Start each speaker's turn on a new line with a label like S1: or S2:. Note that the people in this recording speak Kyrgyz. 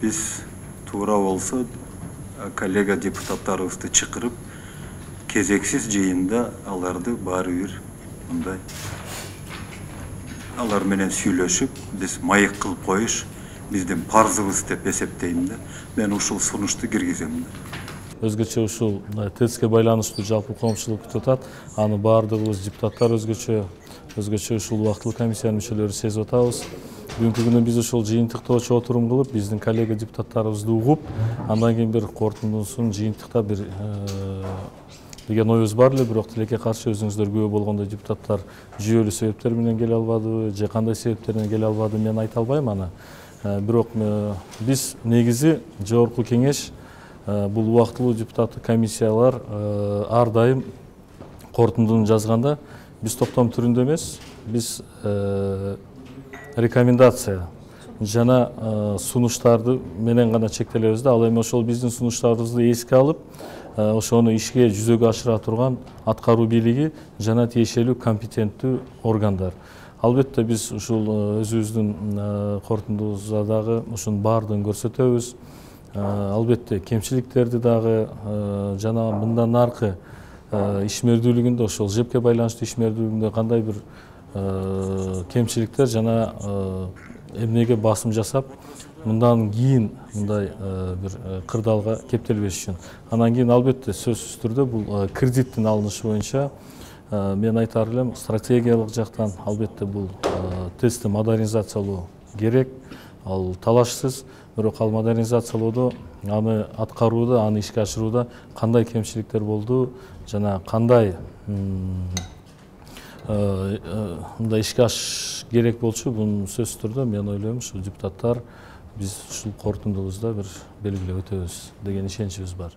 S1: Биз туура болсо коллега депутаттарыбызды чакырып, кезексиз жыйында аларды баары бир мындай алар менен сүйлөшүп, биз маек кылып коюш биздин парзыбыз деп эсептейм да. Мен ушул сунушту киргизем да.
S2: Өзгөчө ушул ТЭЦке байланыштуу жалпы коомчулук депутат, аны баардыгыбыз депутаттар өзгөчө ушул убактылуу комиссиянын мүчөлөрү сезип атабыз. Бүгүнкү күнү биз ушул жыйынтыктоочу отурум кылып, биздин коллега депутаттарыбызды угуп, андан кийин бир корутундусун жыйынтыкта бир деген оюбуз бар эле, бирок тилекке каршы өзүңүздөр күбө болгондой депутаттар жүйөлүү себептер менен келе албадыбы, же кандай себептер менен келе албады, мен айта албайм аны. Бирок биз негизи жогорку кеңеш бул убактылуу депутаттык комиссиялар ар дайым корутундуну жазганда биз топтом түрүндө эмес, биз рекомендация жана сунуштарды менен гана чектелебиз да. Ал эми ошол биздин сунуштарыбызды эске алып, ошону ишке жүзөгө ашыра турган аткаруу бийлиги жана тиешелүү компетенттүү органдар. Албетте биз ушул өзүбүздүн корутундубузда дагы ушунун баардыгын көрсөтөбүз. Албетте кемчиликтерди дагы жана мындан аркы ишмердүүлүгүндө, ошол ЖЭПке байланыштуу ишмердүүлүгүндө кандай бир кемчиликтер жана эмнеге басым жасап, мындан кийин мындай бир кырдаалга кептелбеш үчүн. Андан кийин албетте сөзсүз түрдө бул кредиттин алынышы боюнча мен айтар элем, стратегиялык жактан албетте бул ТЭЦти модернизациялоо керек, ал талашсыз. Бирок ал модернизациялоодо, аны аткарууда, аны ишке ашырууда кандай кемчиликтер болду жана кандай мындай ишке ашыш керек болчу, бунун сөзсүз түрдө мен ойлойм, ушул депутаттар биз ушул корутундубузда бир белгилеп өтөбүз деген ишеничибиз бар.